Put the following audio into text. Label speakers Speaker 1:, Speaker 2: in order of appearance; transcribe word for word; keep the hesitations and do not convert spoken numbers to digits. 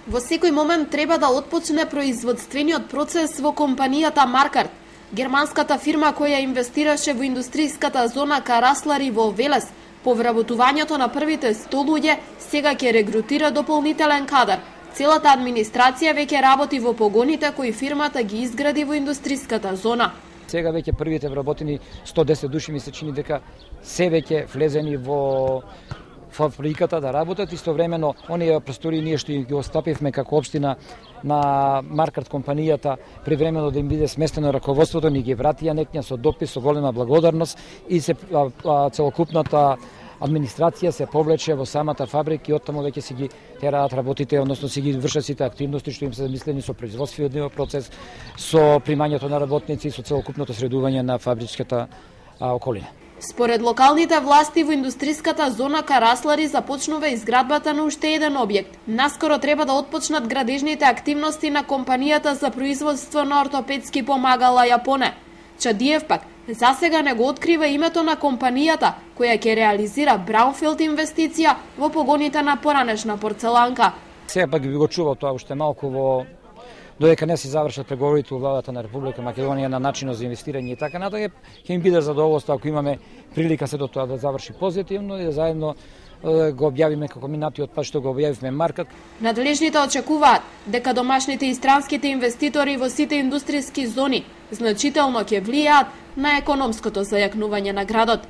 Speaker 1: Во секој момент треба да отпочне производствениот процес во компанијата Маркарт. Германската фирма која инвестираше во индустријската зона Караслари во Велес, по вработувањето на првите сто луѓе, сега ќе регрутира дополнителен кадар. Целата администрација веќе работи во погоните кои фирмата ги изгради во индустријската зона.
Speaker 2: Сега веќе првите вработени сто десет души ми се чини дека се веќе влезени во фабриката да работат. Истовремено, оние простори ние што ги остапивме како општина на Маркарт компанијата, привремено да им биде сместено раководството, ни ги вратија некња со допис, со голема благодарност и се а, а, целокупната администрација се повлече во самата фабрика и оттаму веќе си ги тераат работите, односно си ги вршат сите активности што им се замислени со производствениот процес, со примањето на работници и со целокупното средување на фабричката а, околина.
Speaker 1: Според локалните власти во индустријската зона Караслари започнува изградбата на уште еден објект. Наскоро треба да отпочнат градежните активности на компанијата за производство на ортопедски помагала Јапоне. Чадиев пак засега не го открива името на компанијата која ќе реализира браунфилд инвестиција во погоните на поранешна порцеланка.
Speaker 2: Сега пак би го чувал тоа уште малку во додека не се завршат преговорите во владата на Република Македонија на начинот за инвестирање и така натаму, ќе им биде задоволство ако имаме прилика се до тоа да заврши позитивно и да заедно го објавиме како минатиот пат што го објавивме Маркарт.
Speaker 1: Надлежните очекуваат дека домашните и странските инвеститори во сите индустријски зони значително ќе влијаат на економското зајакнување на градот.